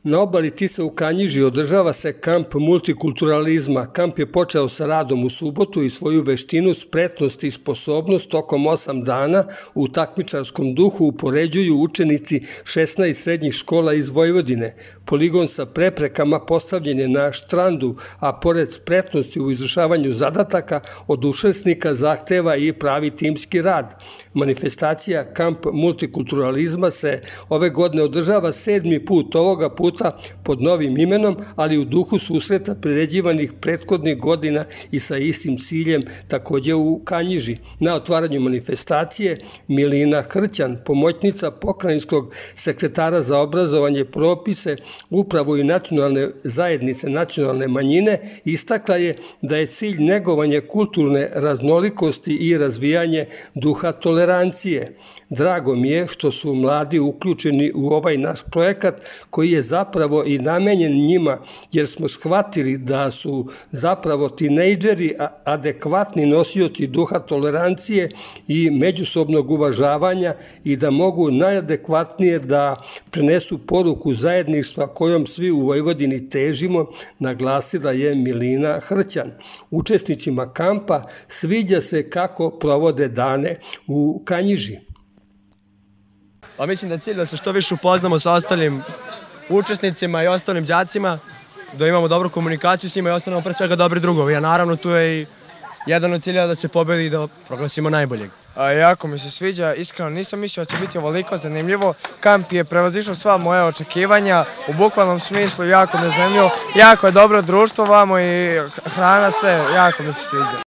Na obali Tise u Kanjiži održava se kamp multikulturalizma. Kamp je počeo sa radom u subotu i svoju veštinu, spretnost i sposobnost tokom 8 dana u takmičarskom duhu upoređuju učenici 16 srednjih škola iz Vojvodine. Poligon sa preprekama postavljen je na štrandu, a pored spretnosti u izvršavanju zadataka, od učesnika zahteva i pravi timski rad. Manifestacija Kamp multikulturalizma se ove godine održava 7. put, ovoga puta pod novim imenom, ali u duhu susreta priređivanih prethodnih godina i sa istim ciljem, takođe u Kanjiži. Na otvaranju manifestacije Milina Hrćan, pomoćnica pokrajinskog sekretara za obrazovanje, propise, upravu i nacionalne zajednice nacionalne manjine, istakla je da je cilj negovanje kulturne raznolikosti i razvijanje duha tolerancije. Drago mi je što su mladi uključeni u ovaj naš projekat koji je zapravo i namenjen njima, jer smo shvatili da su zapravo tinejdžeri adekvatni nosioci duha tolerancije i međusobnog uvažavanja i da mogu najadekvatnije da prenesu poruku zajedništva kojom svi u Vojvodini težimo, naglasila je Milina Hrćan. Učesnicima kampa sviđa se kako provode dane u Kanjiži. Pa mislim da je cilj da se što više upoznamo sa ostalim učesnicima i ostalim đacima, da imamo dobru komunikaciju s njima i ostanemo pre svega dobri drugovi. A naravno tu je i jedan od cilja da se pobedi i da proglasimo najboljeg. Jako mi se sviđa, iskreno nisam mislio da će biti ovoliko zanimljivo. Kamp je prevazišao sva moja očekivanja, u bukvalnom smislu jako me zanimljivo, jako je dobro društvo vamo i hrana, sve, jako mi se sviđa.